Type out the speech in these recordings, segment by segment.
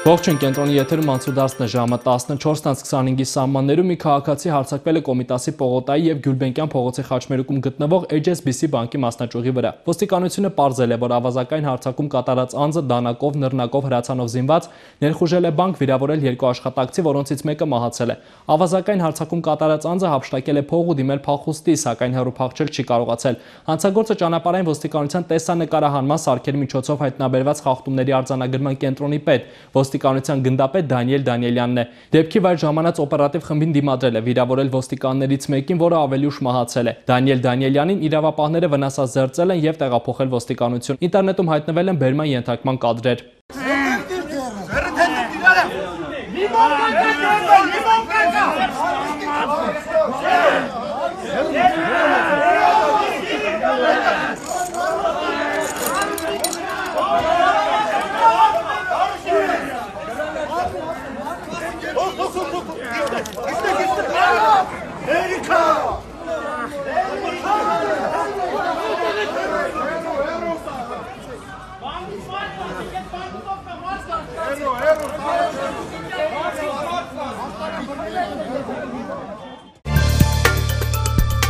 Ողջույն, կենտրոնի եթերում անցուդարձն է ժամը 14:25-ի սահմաններում մի քաղաքացի հարձակվել է Կոմիտասի Պողոտայի եւ Գյուլբենկյան փողոցի խաչմերուկում գտնվող HSBC բանկի մասնաճյուղի վրա։ Ոստիկանությունը պարզել է, որ ավազակային հարձակում կատարած անձը դանակով, նռնակով, հրացանով զինված ներխուժել է բանկ, վիրավորել 2 աշխատակցի, որոնցից մեկը մահացել է։ Ավազակային հարձակում կատարած անձը հափշտակել է փող ու դիմել փախուստի, սակայն հեռու փախչել չի կարողացել։ Հանցագործը ճանապարհային ոստիկանության տեսանկարահանման սարքերի միջոցով հայտնաբերված խախտումների արձանագրման կենտրոնի պետ ոստիկանության գնդապետ Դանիել Դանիելյանն է։ Դեպքի վայր ժամանած օպերատիվ խմբին դիմադրել է վիրավորել ոստիկաններից մեկին, որը ավելի ուշ մահացել է։ Դանիել Դանիելյանին իրավապահները վնասազերծել են եւ տեղափոխել ոստիկանություն։ Ինտերնետում հայտնվել են բերման ենթարկման կադրեր։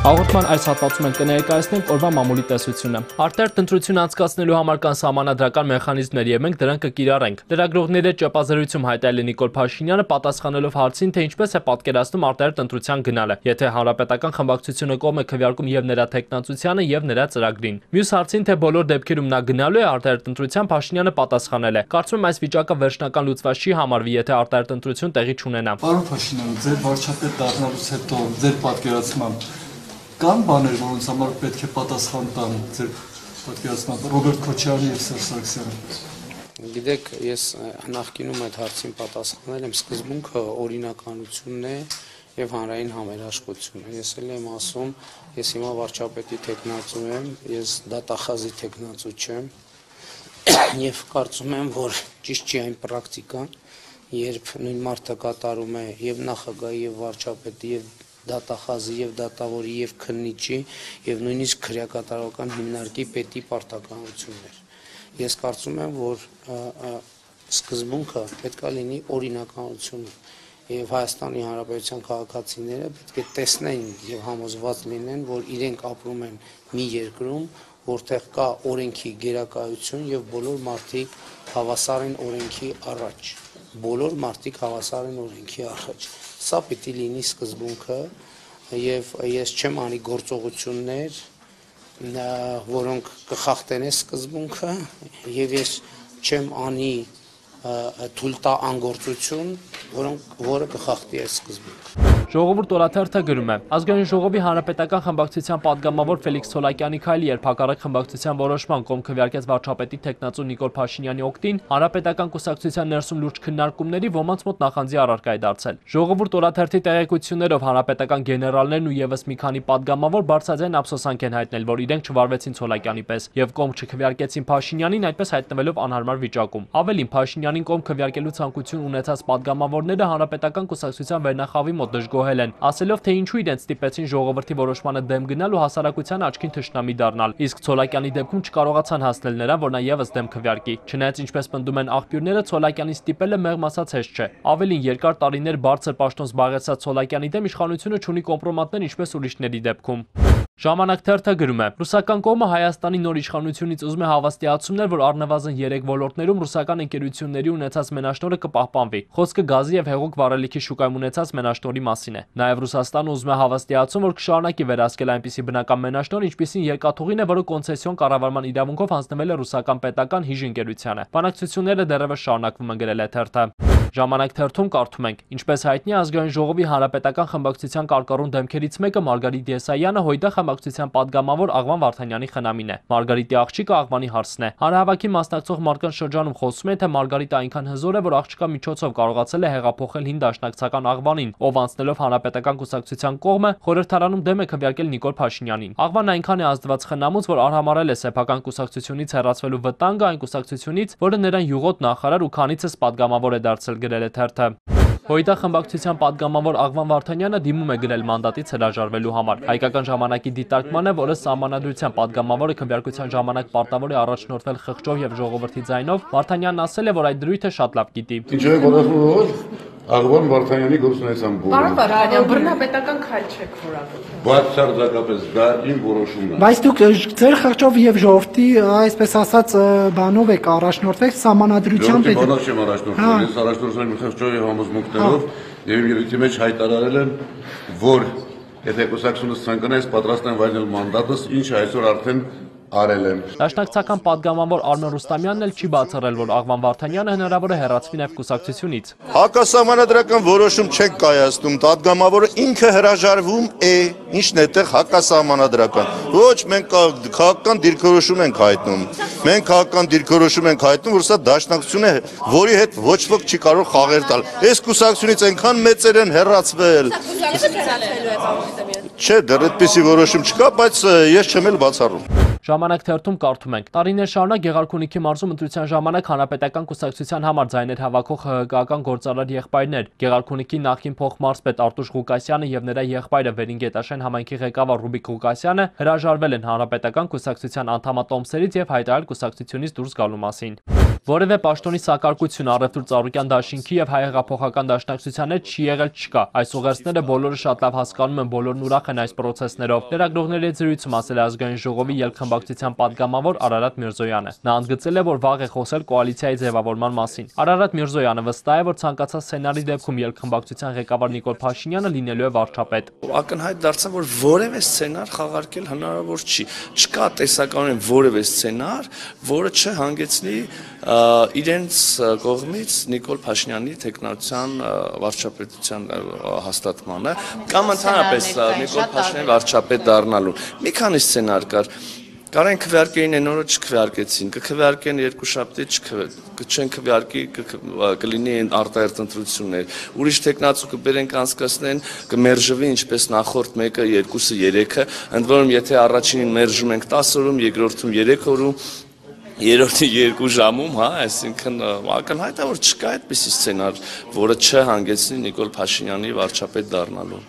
Հաղորդման այս հատվածում ենք կներկայացնենք օրվա մամուլի տեսությունը։ Արտահերթ ընտրություն անցկացնելու համար կան սահմանադրական մեխանիզմներ եւ մենք դրանք կկիրառենք։ Լրագրողների հետ ճեպազրույցում հայտարարել է Նիկոլ Փաշինյանը, պատասխանելով հարցին, թե ինչպես է պատկերացնում արտահերթ ընտրության գնալը, եթե հանրապետական խմբակցությունը կողմ է քվեարկում եւ նրա տեխնացությանը եւ նրա ծրագրին։ Մյուս հարցին, թե բոլոր դեպքերում նա գնալու է արտահերթ ընտրության, Փաշինյանը պատասխանել է. Կարծում եմ այս վիճակը վերջնական լուծված չի համարվի, եթե արտահերթ ընտրություն տեղի չունենա։ Պարոն Փաշինյան, ձեր վարչապետ դառնալուց հետո ձեր պատկերացմամբ կան բաներ, որոնց համար պետք է պատասխան տան ձեր պատկերացմամբ Ռոբերտ Քոչարյանը եւ Սերժ Սարգսյանը։ Գիտեք, ես նախկինում այդ հարցին պատասխանել եմ, սկզբունքը օրինականությունն է եւ հանրային համերաշխությունը։ Ես էլ եմ ասում, ես հիմա վարչապետի տեխնացու եմ, ես դատախազի տեխնացու չեմ եւ կարծում եմ, որ ճիշտ չի այն պրակտիկան, երբ նույն մարդը կատարում է եւ նախագահի եւ վարչապետի եւ դատախազի եւ դատավորի եւ քննիչի եւ նույնիսկ քրեակատարական հիմնարկի պետի պարտականություններ։ Ես կարծում եմ, որ սկզբունքը պետք է լինի օրինականություն եւ Հայաստանի Հանրապետության քաղաքացիները պետք է տեսնեն եւ համոզված լինեն, որ իրենք ապրում են մի երկրում, որտեղ կա օրենքի գերակայություն եւ բոլոր մարդիկ հավասար են օրենքի առաջ։ Բոլոր մարդիկ հավասար են օրենքի առաջ։ Սա պիտի լինի սկզբունքը եւ ես չեմ անի գործողություններ, որոնք կխախտեն այս սկզբունքը եւ ես չեմ անի թույլ տա անգործություն, որը կխախտի այս սկզբունքը։ Ժողովուրդ օրաթերթը գրում է. Ազգային ժողովի հանրապետական խմբակցության падգամավոր Ֆելիքս Ցոլակյանի քայլի երբ հակառակ խմբակցության որոշման կողմ քվեարկեց վարչապետի տեխնացու Նիկոլ Փաշինյանի օգտին, հանրապետական կուսակցության ներսում լուրջ քննարկումների ոմանց մոտ նախանձի առարկա է դարձել։ Ժողովուրդ օրաթերթի տեղեկություններով հանրապետական գեներալներն ու եւս մի քանի падգամավոր բարձրաձայն ափսոսանք են հայտնել, որ իրենք չվարվեցին Ցոլակյանի պես եւ կողմ չքվեարկեցին Փաշինյանին, այդպես հայտնվելով անհարմար վիճակում։ Ավելին, Փաշինյանին կողմ քվեարկելու ցանկություն ունեցած падգամավորները հանրապետական կուսակցության վերնախավի մոտ դժգոհել են, ասելով, թե ինչու իրենց ստիպեցին ժողովրդի որոշմանը դեմ գնալ ու հասարակության աչքին թշնամի դառնալ։ Իսկ Ցոլակյանի դեպքում չկարողացան հասնել նրան, որ նա եւս դեմ քվեարկի։ Չնայած ինչպես պնդում են աղբյուրները, Ցոլակյանին ստիպելը մեղմ ասած հեշտ չէ։ Ավելին, երկար տարիներ բարձր պաշտոն զբաղեցած Ցոլակյանի դեմ իշխանությունը չունի կոմպրոմատներ ինչպես ուրիշների դեպքում։ Ժամանակ թերթը գրում է. Ռուսական կողմը Հայաստանի նոր իշխանությունից ուզում է հավաստիացումներ, որ առնվազն 3 ոլորտներում ռուսական ընկերությունների ունեցած մենաշնորհը կպահպանվի։ Խոսքը գազի եւ հեղուկ վառելիքի շուկայում ունեցած մենաշնորհի մասին է։ Նաեւ Ռուսաստանը ուզում է հավաստիացում, որ կշարունակի վերահսկել այնպիսի բնական մենաշնորհ, ինչպիսին երկաթուղին է, որը կոնցեսիոն կառավարման իրավունքով հանձնվել է ռուսական պետական հիժ ընկերությանը։ Բանակցությունները դեռևս շարունակվում են, գրել է թերթը։ Ժամանակ թերթում կարդում ենք. Ինչպես հայտնի է, ազգային ժողովի հանրապետական խմբակցության կարկառուն դեմքերից մեկը Մարգարիտ Եսայանը Հույդա խմբակցության падգամավոր Աղվան Վարդանյանի խնամին է։ Մարգարիտի աղջիկը Աղվանի հարցն է։ Հանրահավաքի մասնակցող մարդկանց շրջանում խոսում են, թե Մարգարիտը այնքան հզոր է, որ աղջկա միջոցով կարողացել է հեղափոխել հին դաշնակցական Աղվանին, ով անցնելով հանրապետական կուսակցության կողմը խորհրդարանում դեմ է քվեարկել Նիկոլ Փաշինյանին։ Աղվանն այնքան է ազդված խնամուց, որ արհամարել է սեփական կուսակցությունից հեռացվելու վտանգը այն կուսակցությունից, որը նրան յուղոտ նախարար ու քանիցս падգամավոր է դարձել, գրել է թերթը։ ՀՅԴ խմբակցության պատգամավոր Աղվան Վարդանյանը դիմում է գրել մանդատից հրաժարվելու համար։ Հայկական ժամանակի դիտարկման է, որը Սահմանադրության պատգամավորը քվեարկության ժամանակ պարտավոր է առաջնորդվել խղճով եւ ժողովրդի ձայնով, Վարդանյանն ասել է, որ այդ դրույթը շատ լավ գիտի։ Ինչու է պատասխանատու Աղվան Վարդանյանի գործունեության բովը։ Պարոն Վարդանյան, բռնապետական քայլ չեք որակում։ Բացարձակապես դա իմ որոշումն է։ Բայց դուք ձեր խղճով եւ ժողովրդի, այսպես ասած, բանով եք առաջնորդվել Սահմանադրությամբ։ Բանով չեմ առաջնորդվել, ես առաջնորդվել եմ խղճով եւ համոզմունքներով եւ իմ ելույթի մեջ հայտարարել եմ, որ եթե կուսակցությունս ցանկանա, ես պատրաստ եմ վայելել մանդատս, ինչը այսօր արդեն արել եմ։ Դաշնակցական պատգամավոր Արմեն Ռուստամյանն էլ չի բացառել, որ Աղվան Վարդանյանը հնարավոր է հեռացվի նաև կուսակցությունից։ Հակասահմանադրական որոշում չեք կայացնում, պատգամավորը ինքը հրաժարվում է, ինչն է տեղ հակասահմանադրական։ Ոչ, մենք քաղաքական դիրքորոշում ենք հայտնում։ Մենք քաղաքական դիրքորոշում ենք հայտնում, որ սա դաշնակցություն է, որի հետ ոչ ոք չի կարող խաղեր տալ։ Այս կուսակցությունից այնքան մեծեր են հեռացվել։ Չէ, դեռ այդպիսի որոշում չկա, բայց ես չեմ էլ բացառում։ Ժամանակ թերթում կարդում ենք. տարիներ շարունակ Գեղարքունիքի մարզում ընտրության ժամանակ հանրապետական կուսակցության համար ձայներ հավաքող ՀՀԿ-ական գործարար եղբայրներ, Գեղարքունիքի նախկին փոխմարզպետ Արտուշ Ղուկասյանը եւ նրա եղբայրը Վերինգետաշեն համայնքի ղեկավար Ռուբիկ Ղուկասյանը հրաժարվել են հանրապետական կուսակցության անդամատոմսերից եւ հայտարարել կուսակցությունից դուրս գալու մասին։ Որևէ պաշտոնի սակարկություն Առևտուր Ծառուկյան դաշինքի եւ Հայ հեղափոխական դաշնակցության հետ չի եղել չկա։ Այս ուղերձները բոլորը շատ լավ հասկանում են, բոլորն ուրախ են այս պրոցեսներով։ Լրագրողների հետ զրույցում ասել է ազգային ժողովի ելքխմբակցության պատգամավոր Արարատ Միրզոյանը։ Նա ընդգծել է, որ վաղ է խոսել կոալիցիայի ձևավորման մասին։ Արարատ Միրզոյանը վստահ է, որ ցանկացած սցենարի դեպքում ելքխմբակցության ղեկավար Նիկոլ Փաշինյանը լինելու է վարչապետ։ Ակնհայտ դարձավ, որ որևէ սցենար խաղարկել հնարավոր չի։ Չկա տեսականորեն որևէ սցենար, որը չհանգեցնի իրենց կողմից Նիկոլ Փաշինյանի տեխնokraտության վարչապետության հաստատմանը կամ ընդհանրապես Նիկոլ Փաշինյանի վարչապետ դառնալու։ Մի քանի սցենար կար։ Կարեն քվեարկեին են օրը չքվեարկեցին, կքվեարկեն երկուշաբթի չեն քվեարկի կլինի արտահերթ ընտրություններ։ Ուրիշ տեխնացու կբերեն կանցկացնեն, կմերժվի ինչպես նախորդ մեկը, երկուսը, երեքը, ընդ որում եթե առաջինին մերժում ենք 10 օրում, երկրորդում 3 օրում, երրորդի 2 ժամում, հա, այսինքն ակնհայտ է, որ չկա այդպիսի սցենար, որը չհանգեցնի Նիկոլ Փաշինյանի վարչապետ դառնալու։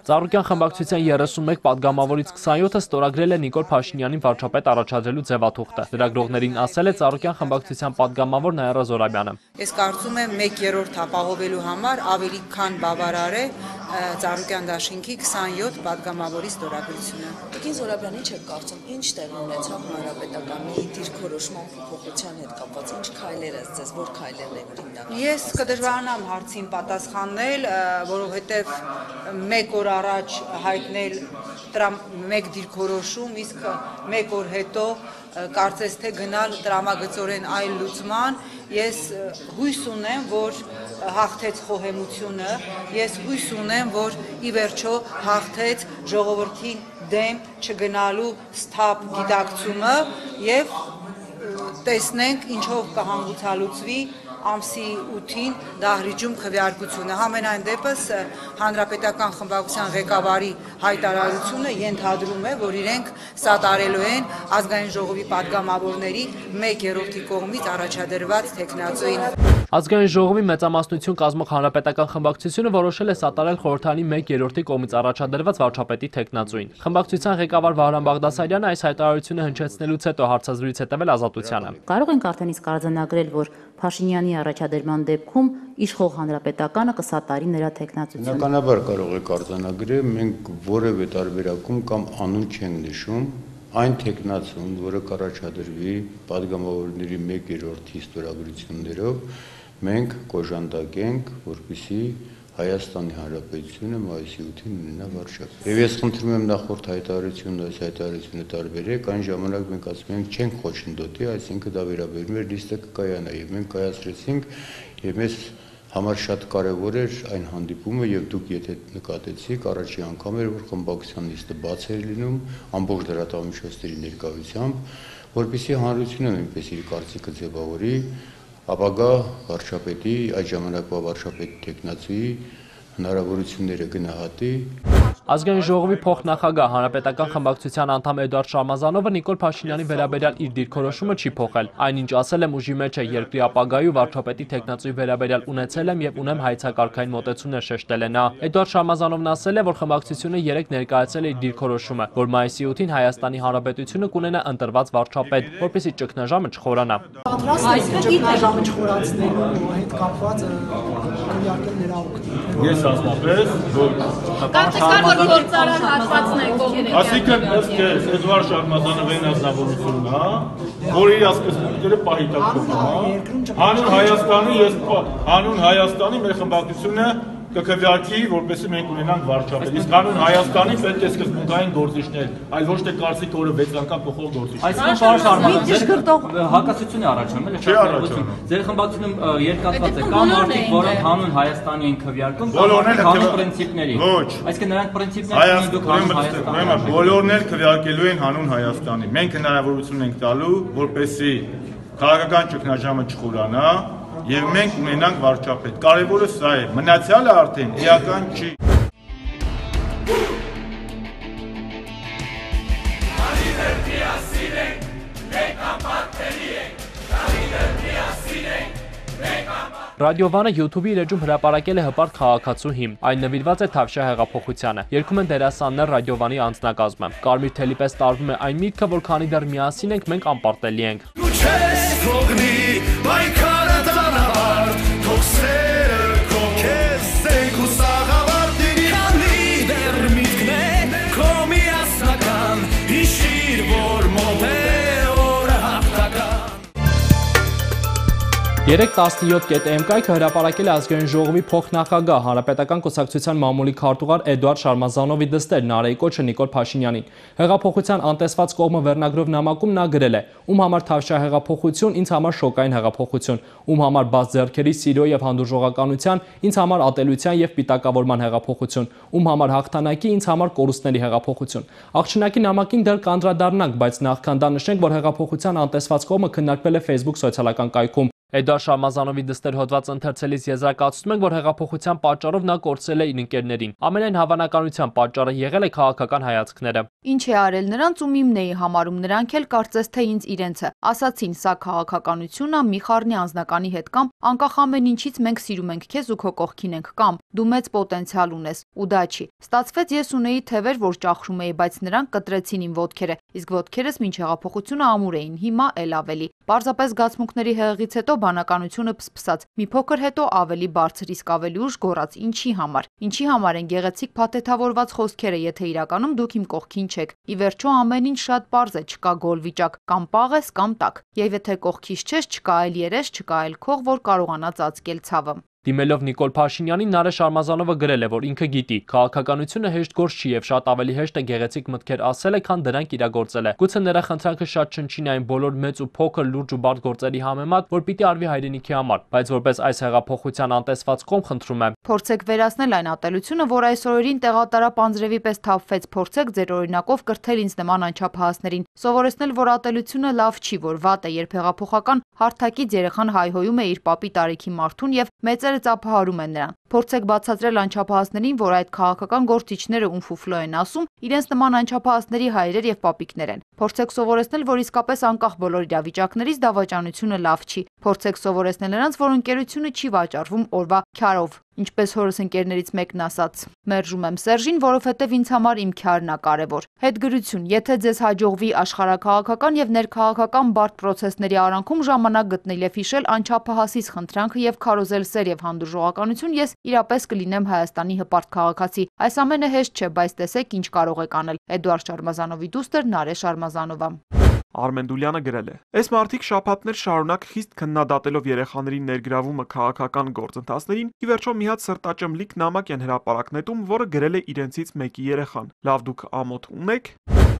Ծառուկյան խմբակցության 31 պատգամավորից 27-ը ստորագրել է Նիկոլ Փաշինյանին վարչապետ առաջադրելու ձևաթուղթը։ Լրագրողներին ասել է Ծառուկյան խմբակցության պատգամավոր Նայրա Զորաբյանը։ Ես կարծում եմ 1/3 ապահովելու համար ավելի քան բավարար է Ծառուկյան դաշինքի 27 պատգամավորի ստորագրությունը։ Տիկին Զորաբյան, ինչ եք կարծում, ինչ տեղ ունեցավ հանրապետականի դիրքորոշման փոփոխության հետ կապված, ինչ քայլեր ըստ ձեզ, որ քայլերն եք հիմնականում։ Ես կդժվարանամ հարցին պատասխանել, որովհետև 1 օր առաջ հայտնել մեկ դիրքորոշում, իսկ 1 օր հետո կարծես թե գնալ տրամագծորեն այլ լուծման, ես հույս ունեմ, որ հաղթեց խոհեմությունը, ես հույս ունեմ, որ ի վերջո հաղթեց ժողովրդին դեմ չգնալու սթափ գիտակցումը եւ տեսնենք ինչով կհանգուցալուծվի ամսի 8-ին դահլիճում քվեարկությունը։ Համենայն դեպս հանրապետական խմբակցության ղեկավարի հայտարարությունը ենթադրում է, որ իրենք սատարելու են ազգային ժողովի պատգամավորների 1/3 կողմից առաջադրված տեխնացուին։ Ազգային ժողովի մեծամասնություն կազմող հանրապետական խմբակցությունը որոշել է սատարել խորհրդարանի 1/3 կողմից առաջադրված վարչապետի տեխնացուին։ Խմբակցության ղեկավար Վահրամ Բաղդասարյանը այս հայտարարությունը հնչեցնելուց հետո հարցազրույց է տվել Ազատությանը։ Կարող ենք արդեն իսկ արձանագրել, որ Փաշինյանի առաջադրման դեպքում իշխող հանրապետականը կսատարի նրա տեխնացությունը։ Բնականաբար կարող եք արձանագրել, մենք որևէ տարբերակում կամ անուն չենք նշում այն տեխնացուն, որը կառաջադրվի պատգամավորների 1/3 ստորագրություններով, մենք կոժանդակենք, որպեսզի Հայաստանի Հանրապետությունը մայիսի 8-ին ունենա վարչապետ։ Եվ ես խնդրում եմ նախորդ հայտարարությունը, այս հայտարարությունը տարբերեք, այն ժամանակ մենք ասում ենք չենք խոչընդոտի, այսինքն դա վերաբերում է լիստը կկայանա, եւ մենք կայացրեցինք, եւ մեզ համար շատ կարևոր էր այն հանդիպումը, եւ դուք եթե նկատեցիք, առաջի անգամ էր, որ խմբակցության լիստը բաց էր լինում, ամբողջ լրատվամիջոցների ներկայությամբ, որպեսզի հանրությունը նույնպես իր կարծիքը ձևավորի ապագա վարչապետի, այդ ժամանակվա վարչապետի տեխնացուի հնարավորությունները գնահատի։ Ազգային ժողովի փոխնախագահ հանրապետական խմբակցության անդամ Էդուարդ Շարմազանովը Նիկոլ Փաշինյանի վերաբերյալ իր դիրքորոշումը չի փոխել։ Այնինչ ասել եմ ուժի մեջ է երկրի ապագայի ու վարչապետի տեխնացուի վերաբերյալ ունեցել եմ եւ ունեմ հայեցակարգային մոտեցումներ շեշտել է նա։ Էդուարդ Շարմազանովն ասել է, որ խմբակցությունը երեք ներկայացել է իր դիրքորոշումը, որ մայիսի 8-ին Հայաստանի Հանրապետությունը կունենա ընտրված վարչապետ, որպեսզի ճգնաժամը չխորանա։ Այսինքն ճգնաժամը չխորացնելու հետ կապված քննարկել նրա օգտին։ Ես ասնապես որ գործարար հատվածն է կողմից։ Այսինքն ըստ Էդուարդ Շարմազանովի անձնավորությունն է, որ իր ասկսունքները պահիտակում է։ Հանուն Հայաստանի մեր խմբակցությունը կքվեարկի, որպեսզի մենք ունենանք վարչապետ։ Իսկ հանուն Հայաստանի պետք է սկզբունքային գործիչներ, այլ ոչ թե կարծիք օրը 6 անգամ փոխող գործիչներ։ Այսինքն պարոն Շարմազանov, հակասություն է առաջանում, չէ՞ առաջանում։ Ձեր խմբակցությունում երկաթված է կամ մարդիկ, որոնք հանուն Հայաստանի են քվեարկում, կամ հանուն պրինցիպների։ Ոչ։ Այսինքն նրանք պրինցիպներ ունեն դուք հանուն Հայաստանի։ Բոլորն էլ քվեարկելու են հանուն Հայաստանի։ Մենք հնարավորություն ենք տալու, որպեսզի քաղաքական ճգնաժամը չխորանա եւ մենք ունենանք վարչապետ։ Կարևորը սա է, մնացյալը արդեն էական չի։ Ռադիովանը YouTube-ի իր էջում հրապարակել է հպարտ քաղաքացու հիմն։ Այն նվիրված է Թավշյա հեղափոխությանը։ Երգում են դերասաններ ռադիովանի անձնակազմը։ Կարմիր թելի պես տարվում է այն միտքը, որ քանի դեռ միասին ենք, մենք անպարտելի ենք։ Երեկ 17.am կայքը հրապարակել է ազգային ժողովի փոխնախագահ հանրապետական կուսակցության մամուլի քարտուղար Էդուարդ Շարմազանովի դստեր Նարեի կոչը Նիկոլ Փաշինյանին։ Հեղափոխության անտեսված կողմը վերնագրով նամակում նա գրել է. «Ում համար Թավշյա հեղափոխություն, ինձ համար շոկային հեղափոխություն, ում համար բաց ձեռքերի սիրո եւ հանդուրժողականության, ինձ համար ատելության եւ պիտակավորման հեղափոխություն, ում համար հաղթանակի, ինձ համար կորուստների հեղափոխություն»։ Աղջնակի նամակին դեռ կանդրադառնանք, բայց նախքան դա նշենք, որ հեղափոխության անտեսված կողմը քննարկվել է Facebook սոցիալական կայքում։ Էդուարդ Շարմազանովի դստեր հոդված ընթերցելիս եզրակացնում ենք, որ հեղափոխության պատճառով նա կորցրել է իր ընկերներին։ Ամենայն հավանականությամբ պատճառը եղել է քաղաքական հայացքները։ Ինչ է արել նրանց ու իմն էի համարում, նրանք էլ կարծես թե ինձ իրենցը։ Ասացին, սա քաղաքականություն է, մի խառնի անձնականի հետ կամ անկախ ամեն ինչից մենք սիրում ենք քեզ ու քո կողքին ենք կամ դու մեծ պոտենցիալ ունես ու դա չի։ Ստացվեց ես ունեի թևեր, որ ճախրում էի, բայց նրանք կտրեցին իմ ոտքերը, իսկ ոտքերս մինչ հեղափոխությունը ամուր էին, հիմա էլ ավելի։ Պարզապես զգացմունքների հեղեղից հետո բանականությունը փսփսաց։ Մի փոքր հետո ավելի բարձր, իսկ ավելի ուշ գոռաց. ինչի համար են գեղեցիկ փաթեթավորված խոսքերը, եթե իրականում դուք իմ կողքին չեք։ Ի վերջո ամեն ինչ շատ պարզ է, չկա գոլ վիճակ, կամ պաղ ես կամ տակ։ Եվ եթե կողքից չես, չկա այլ երես, չկա այլ քող, որ կարողանա ծածկել ցավը։ Դիմելով Նիկոլ Փաշինյանին Նարե Շարմազանովը գրել է, որ ինքը գիտի, քաղաքականությունը հեշտ գործ չի եւ շատ ավելի հեշտ է գեղեցիկ մտքեր ասելը, քան դրանք իրագործելը։ Գուցե նրա խնդրանքը շատ չնչին այն բոլոր մեծ ու փոքր լուրջ ու բարդ գործերի համեմատ, որ պիտի արվի հայրենիքի համար, բայց որպես այս հեղափոխության անտեսված կողմ խնդրում է. Փորձեք վերացնել այն ատելությունը, որ այս օրերին տեղատարապ անձրևի պես թափվեց, փորձեք ձեր օրինակով կրթել ինձ նման անչափահասներին, սովորեցնել, որ ատելությունը լավ չի, որ վատ է, երբ հեղափոխական հարթակից երեխան հայհոյում է իր պապի տարիքի մարդուն եւ մեծերը ծափահարում են նրան։ Փորձեք բացատրել անչափահասներին, որ այդ քաղաքական գործիչները ում ֆուֆլո են ասում, իրենց նման անչափահասների հայրեր եւ պապիկներ են։ Փորձեք սովորեցնել, որ իսկապես անկախ բոլոր իրավիճակներից դավաճանությունը լավ չի։ Փորձեք սովորեցնել նրանց, որ ընկերությունը չի վաճառվում օրվա քյարով։ Ինչպես հորս ընկերներից մեկն ասաց. «Մերժում եմ Սերժին, որովհետև ինձ համար իմ քյարն է կարևոր»։ Հետգրություն. եթե ձեզ հաջողվի աշխարհաքաղաքական եւ ներքաղաքական բարդ պրոցեսների արանքում ժամանակ գտնել եւ հիշել անչափահասից խնդրանքը եւ քարոզել սեր եւ հանդուրժողականություն, ես իրապես կլինեմ Հայաստանի հպարտ քաղաքացի։ Այս ամենը հեշտ չէ, բայց տեսեք ինչ կարող եք անել։ Էդուարդ Շարմազանովի դուստր Նարե Շարմազանովա։ Արմեն Դուլյանը գրել է. «Այս մարդիկ շաբաթներ շարունակ խիստ քննադատելով երեխաների ներգրավումը քաղաքական գործընթացներին, ի վերջո մի հատ սրտաճմլիկ նամակ են հրապարակ նետում, որը գրել է իրենցից մեկի երեխան։ Լավ դուք ամոթ ունեք»։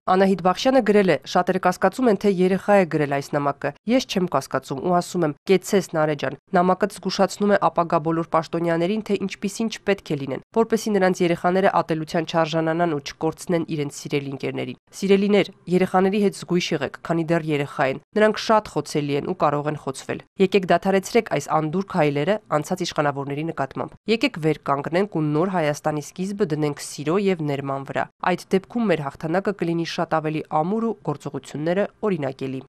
Անահիտ Բախշյանը գրել է. «Շատերը կասկածում են, թե երեխա է գրել այս նամակը։ Ես չեմ կասկածում ու ասում եմ, կեցցես Նարե ջան, նամակը զգուշացնում է ապագա բոլոր պաշտոնյաներին, թե ինչպիսին չպետք է լինեն, որպեսզի նրանց երեխաները ատելության չարժանանան ու չկորցնեն իրենց սիրելի ընկերներին։ Սիրելիներ, երեխաների հետ զգույշ եղեք, քանի դեռ երեխա են։ Նրանք շատ խոցելի են ու կարող են խոցվել։ Եկեք դադարեցրեք այս անդուր քայլերը անցած իշխանավորների նկատմամբ։ Եկեք վեր կանգնենք ու նոր Հայաստանի սկիզբը դնենք սիրո եւ ներման վրա։ Այդ դեպքում մեր հաղթանակը կլինի շատ ավելի ամուր ու գործողությունները օրինակելի»։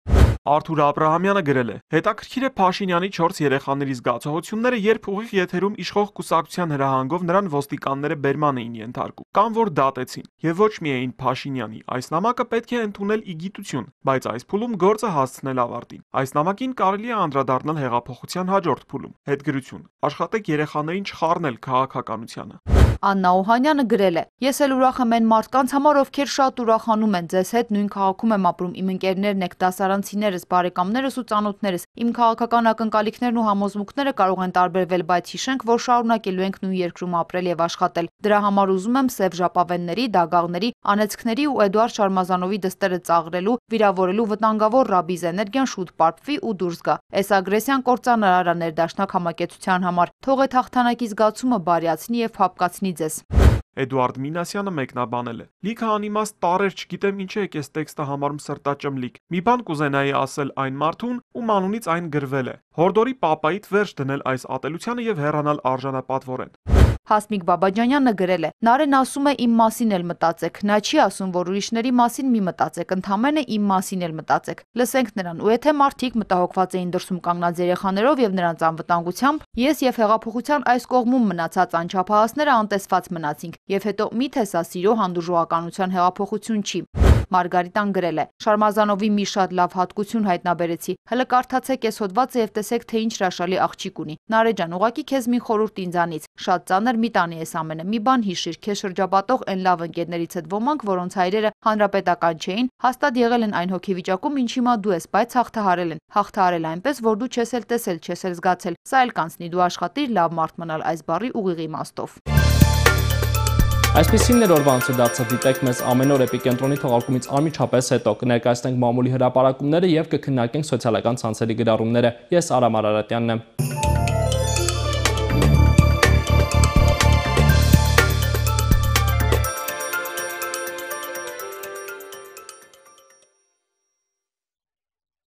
Արթուր Աբրահամյանը գրել է. հետաքրքիր է Փաշինյանի 4 երեխաների զգացողությունները, երբ ուղիղ եթերում իշխող կուսակցության հրահանգով նրան ոստիկանները բերման էին ենթարկում, կամ որ դատեցին, եւ ոչ միայն Փաշինյանի։ Այս նամակը պետք է ընդունել ի գիտություն, բայց այս փուլում գործը հասցնել ավարտին։ Այս նամակին կարելի է անդրադառնալ հեղափոխության հաջորդ փուլում։ Հետգրություն. աշխատեք երեխաներին չխառնել քաղաքականությանը։ Աննա Օհանյանը գրել է. «Ես էլ ուրախ եմ այն մարդկանց համար, ովքեր շատ ուրախանում են, ձեզ հետ նույն քաղաքում եմ ապրում, իմ ընկերներն եք, դասարանցիներս, բարեկամներս ու ծանոթներս, իմ քաղաքական ակնկալիքներն ու համոզմունքները կարող են տարբերվել, բայց հիշենք, որ շարունակելու ենք նույն երկրում ապրել եւ աշխատել։ Դրա համար ուզում եմ Սև ժապավենների, դագաղների, անեծքների ու Էդուարդ Շարմազանովի դստերը ծաղրելու, վիրավորելու վտանգավոր ռաբիզ էներգիան շուտ պարփվի ու դուրս գա։ Այս ագրեսիան կործանարար է ներդաշնակ համակեցության համար։ Թող այդ հաղթանակի զգացումը բարյացնի եւ փափկացնի ձեզ»։ Էդուարդ Մինասյանը մեկնաբանել է. «Լիքը անիմաստ տառեր չգիտեմ ինչ է այս տեքստը համարում սրտաճմլիկ։ Մի բան կուզենայի ասել այն մարդուն, ում անունից այն գրվել է։ Հորդորի պապայիդ վերջ դնել այս ատելությանը եւ հեռանալ արժանապատվորեն»։ Հասմիկ Բաբաջանյանը գրել է. «Նարեն ասում է իմ մասին էլ մտածեք, նա չի ասում, որ ուրիշների մասին մի մտածեք, ընդամենը իմ մասին էլ մտածեք։ Լսենք նրան, ու եթե մարդիկ մտահոգված էին դրսում կանգնած երեխաներով եւ նրանց անվտանգությամբ, ես եւ հեղափոխության այս կողմում մնացած անչափահասները անտեսված մնացինք, եւ հետո միթե սա սիրո հանդուրժողականության հեղափոխություն չի»։ Մարգարիտան գրել է. «Շարմազանովի մի շատ լավ հատկություն հայտնաբերեցի։ Հələ կարդացեք այս հոդվածը եւ տեսեք, թե ինչ հրաշալի աղջիկ ունի։ Նարե ջան, ուղղակի քեզ մի խորհուրդ ինձանից։ Շատ ծանր մի տանի ես ամենը։ Մի բան հիշիր, քեզ շրջապատող այն լավ ընկերներից հետ ոմանք, որոնց հայրերը հանրապետական չէին, հաստատ եղել են այն հոգեվիճակում, ինչ հիմա դու ես, բայց հաղթահարել են։ Հաղթահարել այնպես, որ դու չես էլ տեսել, չես էլ զգացել։ Սա էլ կանցնի, դու աշխատիր լավ մարդ մնալ այս բառի ուղիղ իմաստով»։ Այսպիսին էր օրվա անցը դարձը, դիտեք մեզ ամեն օր Էպիկենտրոնի թողարկումից անմիջապես հետո, կներկայացնենք մամուլի հրապարակումները եւ կքննարկենք սոցիալական ցանցերի գրառումները։ Ես Արամ Արարատյանն եմ։